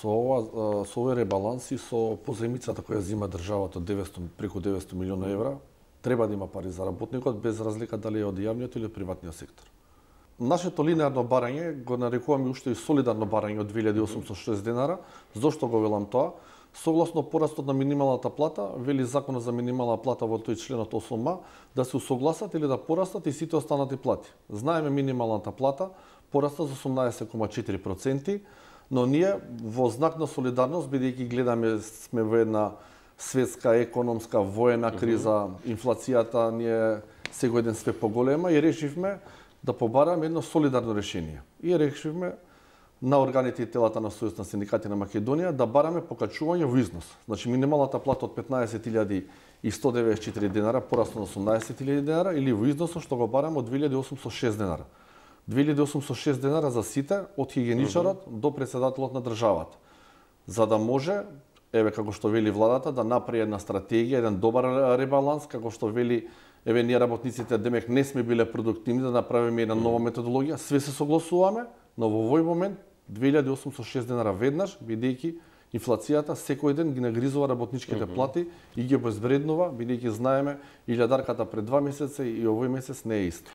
со овој ребаланс и со позаимицата која зима државата преку 900 милиона евра, треба да има пари за работникот без разлика дали е од јавниот или од приватниот сектор. Нашето линеарно барање го нарекуваме уште и солидарно барање од 2806 денара. Зошто го велам тоа? Согласно порастот на минималната плата, вели Законот за минимална плата во тој членот 8а, да се усогласат или да порастат и сите останати плати. Знаеме минималната плата пораста за 18,4%, но ние во знак на солидарност, бидејќи гледаме сме во една светска, економска, воена криза, инфлацијата ни е секој ден све поголема и решивме да побараме едно солидарно решение. И решивме на органите и телата на Сојуз на синдикати на Македонија да бараме покачување во износ. Значи минималната плата од 15.194 денара порасна на 18.000 денара или во износот што го бараме од 2.806 денара. 2.806 денара за сите, од хигиеничарот до претседателот на државата. За да може, еве како што вели владата, да направи една стратегија, еден добар ребаланс, како што вели, еве ние работниците демек не сме биле продуктивни да направиме една нова методологија, све се согласуваме, но во овој момент 2.806 денара веднаш, бидејќи инфлацијата секој ден ги нагризува работничките плати и ги обезвреднува, бидејќи знаеме илјадарката пред 2 месеца и овој месец не е исто.